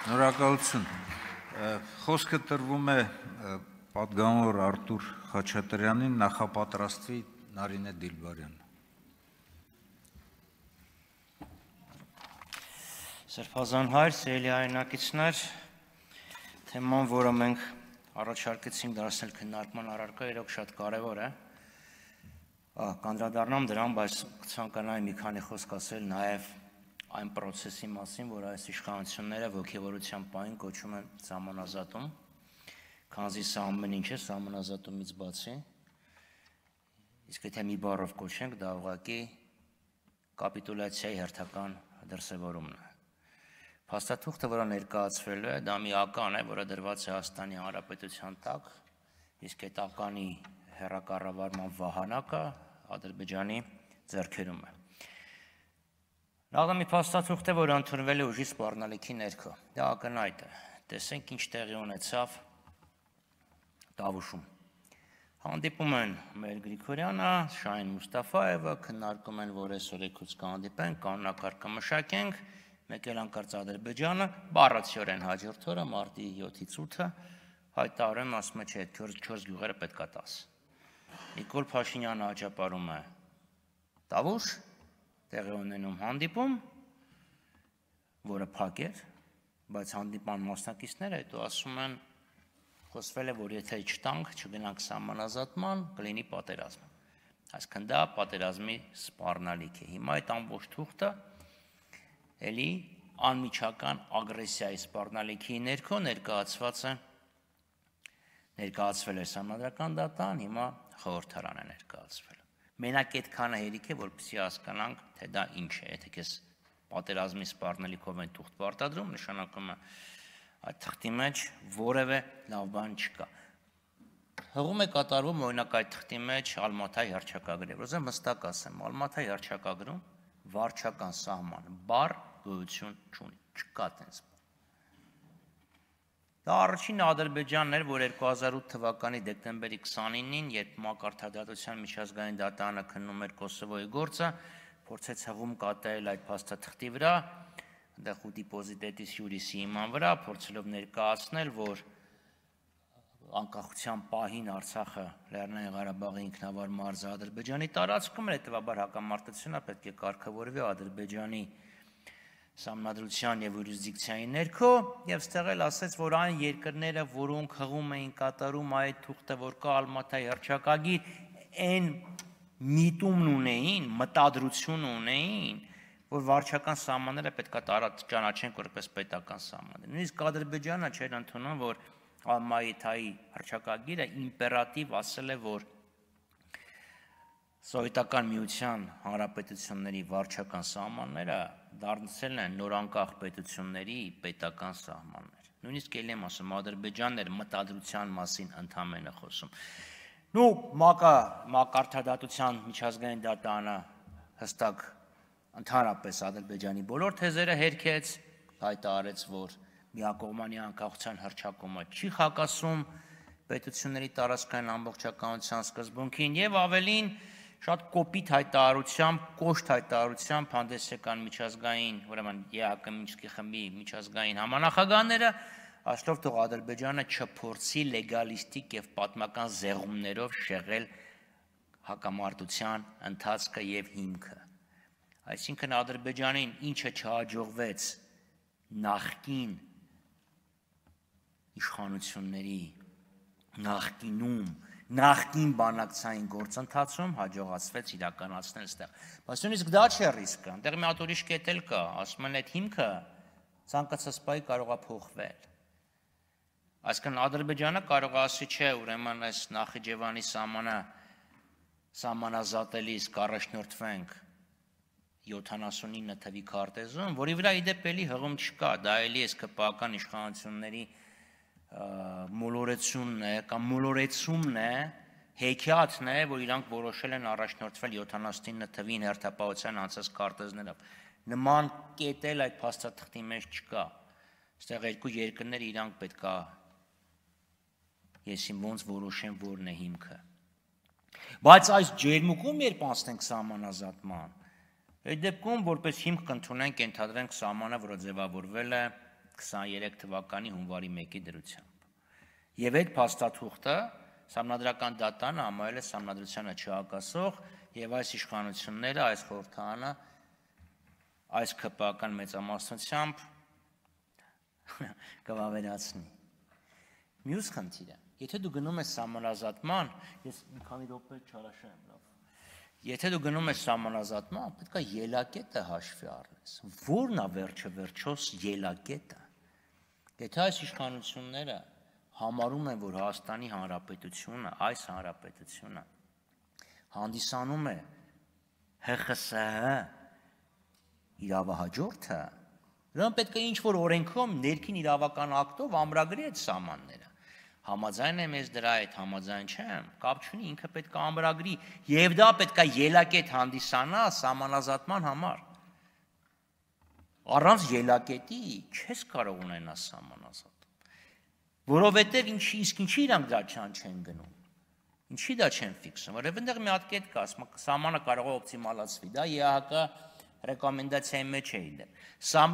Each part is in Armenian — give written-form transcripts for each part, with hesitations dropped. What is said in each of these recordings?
Շնորհակալություն։ Խոսքը տրվում է պատգամավոր Արտուր Խաչատրյանին, նախապատրաստվի Նարինե Դիլբարյան։ Սրբազան հայր, սիրելի հայրենակիցներ, թեման, որը մենք առաջարկեցինք դարձնել քննարկման առարկա, իրոք շատ կարևոր է։ Կանդրադառնամ դրան, բայց ցանկանայի մի քանի խոսք ասել նաև այն process-ի մասին, որ այս իշխանությունները ոգևորության պահին կոչում են սահմանազատում, քանզի սա ամեն ինչ է սահմանազատումից բացի, իսկ եթե մի բառով կոչենք, դա ուղղակի կապիտուլյացիայի հերթական դրսևորումն է։ Փաստաթուղթը, որը ներկայացվել է, դա մի ական է, որը դրված է Հայաստանի Հանրապետության տակ, իսկ այդ ականի հեռակառավարման վահանակը Ադրբեջանի ձեռքերում է։ Նախ մի փաստաթուղթ է, որը ընդունվել է ուժի սպառնալիքի ներքո։ Դա ակնհայտ է։ Տեսենք ինչ տեղի ունեցավ Տավուշում։ Հանդիպում են Մեր Գրիգորյանը, Շահին Մուստաֆայևը, քննարկում են, որ այսօր եկուց կհանդիպենք, կանոնակարգը մշակենք, մեկ էլ անկարծ Ադրբեջանը բառացիորեն հաջորդ օրը մարտի 7-ից 8-ը հայտարարում ասում է, չէ, 4 գյուղերը պետք է տաս։ Նիկոլ Փաշինյանը հաջապարում է Տավուշ, տեղի ունենում հանդիպում, որը փակ էր, բայց հանդիպան մասնակիցները հետո ասում են, խոսվել է, որ եթե չտանք, չգնանք սահմանազատման, կլինի պատերազմ։ Այսինքն դա պատերազմի սպառնալիք է։ Հիմա այդ ամբողջ թուղթը էլի անմիջական ագրեսիայի սպառնալիքի ներքո ներկայացվել է Սահմանադրական դատան, հիմա խորհրդարան է ներկայացվել։ Մենակ այդքանը հերիք է, որպեսզի հասկանանք, թե դա ինչ է, եթե քեզ պատերազմի սպառնալիքով են թուղթ պարտադրում, նշանակում է այդ թղթի մեջ որևէ լավ բան չկա։ Հղում է կատարվում օրինակ այդ թղթի մեջ Ալմաթայի հռչակագրը։ Ուզում հստակ ասեմ, Ալմաթայի հռչակագրում վարչական սահման բառ գոյություն չունի, չկա այդպես։ Դա առաջին Ադրբեջանն էր, որ 2008 թվականի դեկտեմբերի 29-ին, երբ Մակարդադատության միջազգային դատարանը քննում էր Կոսովոյի գործը, փորձեց հղում կատարել այդ փաստաթղթի վրա, այնտեղ դիպոզիտետիս յուրիսի հիման վրա, փորձելով ներկայացնել, որ անկախության պահին Արցախը Լեռնային Ղարաբաղի ինքնավար մարզը Ադրբեջանի տարածքում էր, հետևաբար հակամարտությունը պետք է կարգավորվի Ադրբեջանի Սահմանադրության եւ յուրիսդիկցիայի ներքո, եւ ստեղ էլ ասեց, որ այն երկրները, որոնք հղում էին կատարում այդ թուղթը, որ կա Ալմաթայի հռչակագիր, այն միտումն ունեին, մտադրություն ունեին, որ վարչական սահմանները պետք է ճանաչեն որպես պետական սահմաններ։ Նույնիսկ Ադրբեջանը չէր ընդունում, որ Ալմաթայի հռչակագիրը իմպերատիվ ասել է, որ Սովետական միության հանրապետությունների վարչական սահմանները դարձել են նորանկախ պետությունների պետական սահմաններ։ Նույնիսկ ելի եմ ասում, Ադրբեջանն էր մտադրության մասին ընդամենը խոսում։ Մակարդադատության միջազգային դատարանը հստակ ընդհանրապես Ադրբեջանի բոլոր թեզերը հերքեց, հայտարարեց, որ միակողմանի անկախության հռչակումը չի խակասում պետությունների տարածքային ամբողջականության սկզբունքին եւ ավելին շատ կոպիտ հայտարարությամբ, կոշտ հայտարարությամբ հանդես եկան միջազգային, ուրեմն ԵԱՀԿ Մինսկի խմբի միջազգային համանախագահները, ասելով թող Ադրբեջանը չփորձի լեգալիստիկ եւ պատմական զեղումներով շեղել հակամարտության ընթացքը եւ հիմքը։ Այսինքն Ադրբեջանին ինչը չհաջողվեց նախկին իշխանությունների նախկին բանակցային գործընթացում հաջողացվեց իրականացնել այստեղ։ Բայց նույնիսկ դա չէ ռիսկը, այնտեղ մի հատ ուրիշ կետ էլ կա, ասում են այդ հիմքը ցանկացած պահի կարող է փոխվել։ Այսինքն Ադրբեջանը կարող է ասի, չէ, ուրեմն այս Նախիջևանի սահմանազատելիս կառաջնորդվենք 79 թվի քարտեզում, որի վրա իդեպ էլի հղում չկա, դա էլի այս ԿՊԱ-ական իշխանությունների մոլորեցումն է կամ մոլորեցումն է, հեքիաթն է, որ իրանք որոշել են առաջնորդվել 79 թվին հերթապահության անցած քարտեզներով։ Նման կետ էլ այդ փաստաթղթի մեջ չկա։ Այստեղ երկու երկրներ իրանք պետք է եսիմ ոնց որոշեն որն է հիմքը։ Բայց այս ջերմուկում երբ անցնենք սահմանազատման, այդ դեպքում որպես հիմք կընդունենք, ենթադրենք սահմանը, որը ձևավորվել է 23 թվականի հունվարի 1-ի դրությամբ։ Եվ այդ փաստաթուղթը Սահմանադրական դատանը համարել է սահմանադրությանը չհակասող եւ այս իշխանությունները, այս խորհրդարանը այս ԿՊԱ-ական մեծամասնությամբ կվավերացնի։ Մյուս խնդիրը, եթե դու գնում ես սահմանազատման, ես մի քանի րոպե չարաշեմ, լավ։ Եթե դու գնում ես սահմանազատման, պետք է ելակետը հաշվի առնես։ Որն է վերջը վերջոս ելակետը։ Եթե այս իշխանությունները համարում են, որ Հայաստանի Հանրապետությունը, այս հանրապետությունը հանդիսանում է ՀԽՍՀ իրավահաջորդը, նրան պետք է ինչ-որ օրենքով, ներքին իրավական ակտով ամրագրի այդ սահմանները։ Համաձայն եմ ես դրա հետ, համաձայն չեմ, կապ չունի, ինքը պետք է ամրագրի, եւ դա պետք է ելակետ հանդիսանա սահմանազատման համար։ Առանց ելակետի չես կարող ունենալ սահմանազատ։ Որովհետև ինչի իրանք դա չեն գնում, ինչի դա չեն ֆիքսում, որովհետև այնտեղ մի հատ կետ կա, սահմանը կարող է օպտիմալացվի, դա ԵԱՀԿ ռեկոմենդացիայի մեջ է իլել։ Սա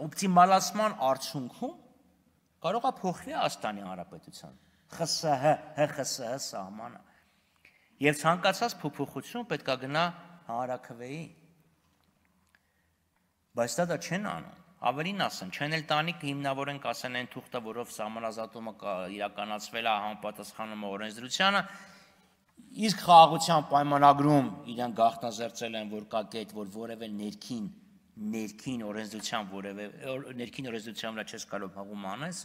օպտիմալացման արդյունքում կարող է փոխվի Հայաստանի Հանրապետության ՀԽՍՀ սահմանը։ Եվ ցանկացած փոփոխություն պետք է գնա հանրաքվեի։ Բայց դա չեն անում։ Ավելին ասեմ, չեն էլ տանի հիմնավորեն կասեն այն թուղթը, որով սահմանազատումը իրականացվել է համապատասխանում է օրենսդրությանը, իսկ խաղաղության պայմանագրում իրեն գաղտնազերծել են, որ կա կետ, որ որևէ ներքին օրենսդրության վրա չես կարող հղում անես,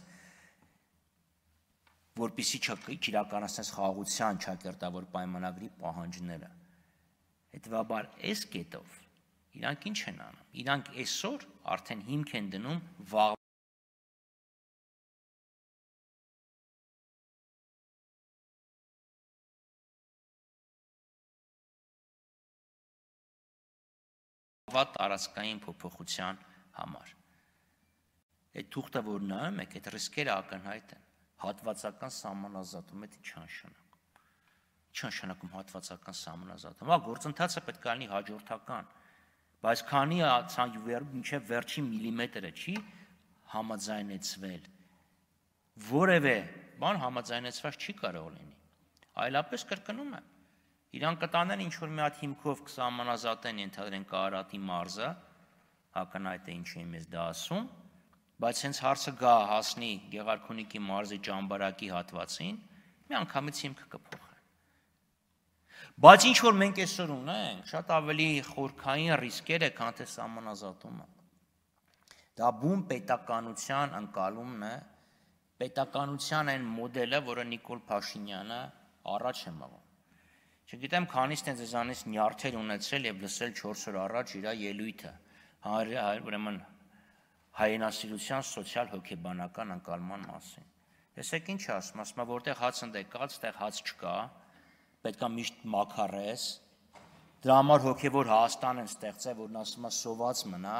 որպեսզի չիրականացնես խաղաղության ճակերտավոր պայմանագրի պահանջները։ Հետևաբար այս կետով իրանք ինչ են անում։ Իրանք այսօր արդեն հիմք են դնում վաղվա տարածքային փոփոխության համար։ Այդ թուղթը, որ նայում եք, այդ ռիսկերը ակնհայտ են։ Հատվածական սահմանազատում է չնշանակում։ Չնշանակում հատվածական սահմանազատում։ Հա, գործընթացը պետք է լինի հաջորդական։ Բայց քանի մինչև վերջին միլիմետրը չի համաձայնեցվել, որևէ բան համաձայնեցված չի կարող լինի։ Այլապես կրկնում եմ, իրանք կտանեն ինչ-որ մի հատ հիմքով կսահմանազատեն, ենթադրեն Կարատի մարզը, ակնհայտ է ինչ եմ ես դա ասում, բայց հենց հարցը գա հասնի Գեղարքունիքի մարզի Ճամբարակի հատվածին, մի անգամից հիմքը կփոխեն։ Բայց ինչ որ մենք այսօր ունենք, շատ ավելի խորքային ռիսկեր է, քան թե սահմանազատումը։ Դա բուն պետականության ընկալումն է, պետականության այն մոդելը, որը Նիկոլ Փաշինյանը առաջ է մղում։ Չգիտեմ, քանիստ են ձեզանից նյարդեր ունեցել եւ լսել 4 օր առաջ իր ելույթը, ուրեմն հայրենասիրության սոցիալ-հոգեբանական ընկալման մասին։ Տեսեք ինչ ասում, ասում է, որտեղ հաց ընդեկած, այդտեղ հաց չկա, պետք է միշտ մաքարես, դրա համար հոգևոր Հայաստան են ստեղծել, որն ասում է սոված մնա,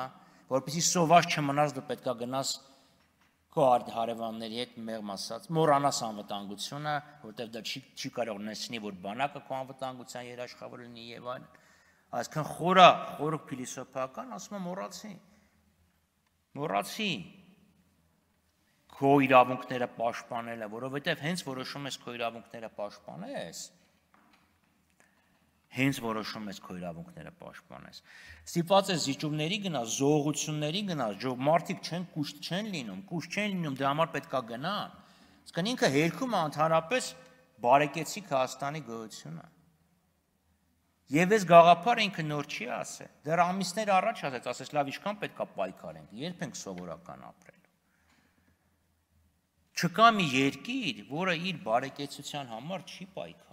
որպեսզի սոված չմնաս, դու պետք է գնաս քո հարևանների հետ մեղմ ասած, մոռանաս անվտանգությունը, որտեղ դա չի կարող նշանի, որ բանակը քո անվտանգության երաշխավոր լինի եւ այլն։ Այսքան խորը փիլիսոփայական, ասում եմ մոռացի քո իրավունքները պաշտպանելը, որովհետև հենց որոշում ես քո իրավունքները պաշտպանես, ստիպված ես զիջումների գնաս, զողությունների գնաս, մարդիկ չեն լինում, դրա համար պետք է գնան, իսկ ինքը հերքում է ընդհանրապես բարեկեցիկ Հայաստանի գոյությունը։ Եվ այս գաղափարը ինքը նոր չի ասել, դեռ ամիսներ առաջ ասեց, լավ ինչքան պետք է պայքարենք, երբ ենք սովորական ապրելու։ Չկա մի երկիր, որը իր բարեկեցության համար չի պայքարում։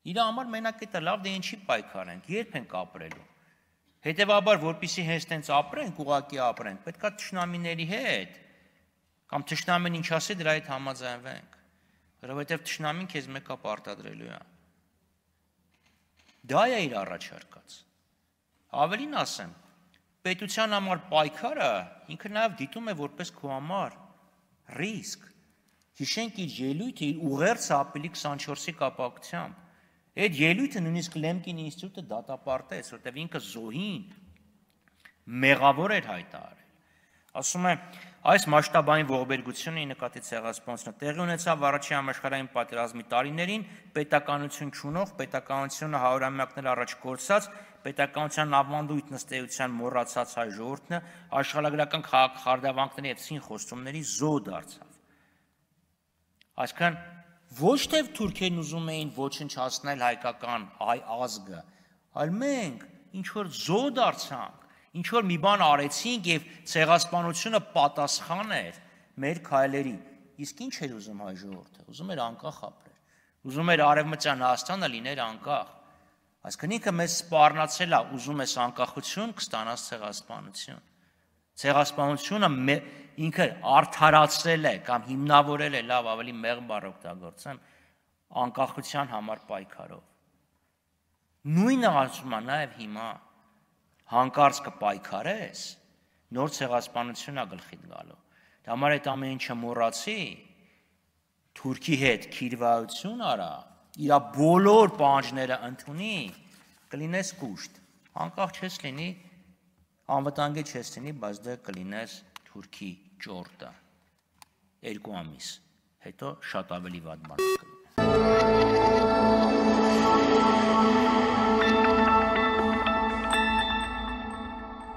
Իր համար մենակ էտա լավ դե ինչի պայքարենք, երբ ենք ապրելու։ Հետևաբար, որպեսզի հենց տենց ապրենք, ուղղակի ապրենք, պետք է թշնամիների հետ, կամ թշնամին ինչ ասի, դրա հետ համաձայնվենք, որովհետև թշնամին քեզ մեկ է պարտադրելու է։ Դա է իր առաջարկած։ Ավելին ասեմ, պետության համար պայքարը ինքը նաև դիտում է որպես քո համար ռիսկ։ Հիշենք իր ելույթը իր ուղերձ ապրիլի 24-ի կապակցությամբ։ Այդ ելույթը նույնիսկ Լեմկին ինստիտուտը դատապարտեց, որտեղ ինքը զոհին մեղավոր էր հայտարարել։ Ասում է, այս մասշտաբային ողբերգությունը նկատի ցեղասպանությունը տեղի ունեցավ առաջին համաշխարհային պատերազմի տարիներին, պետականություն չունող, պետականությունը հարյուրամյակներ առաջ կորցած, պետականության ավանդույթ նստեյության մոռացած հայ ժողովուրդը աշխարհագրական խարդավանքների եւ ցին խոստումների զոհ դարձավ։ Այսինքն ոչ թե թուրքերն ուզում էին ոչնչացնել հայկական հայ ազգը, այլ մենք ինչ որ զոհ դարձանք, ինչ որ մի բան արեցինք եւ ցեղասպանությունը պատասխան էր մեր քայլերի։ Իսկ ինչ էր ուզում հայ ժողովուրդը։ Ուզում էր անկախ ապրել։ Ուզում էր արևմտյան Հայաստանը լիներ անկախ։ Այսինքն ինքը մեզ սպառնացել է, ուզում ես անկախություն, կստանաս ցեղասպանություն։ Ցեղասպանությունը ինքը արդարացրել է կամ հիմնավորել է, լավ, ավելի մեղմ բառ օգտագործեմ, անկախության համար պայքարով։ Նույնը ասում է նաև հիմա հանկարծ կպայքարես, նոր ցեղասպանություն է գլխիդ գալու։ Դա համար այդ ամեն ինչը մոռացի, Թուրքի հետ քիրվայություն արա, իր բոլոր պահանջները ընդունի, կլինես կուշտ։ Անկախ չես լինի, անվտանգի չես լինի, բայց դե կլինես Թուրքի ճորտը 2 ամիս, հետո շատ ավելի վատ բան կլինի։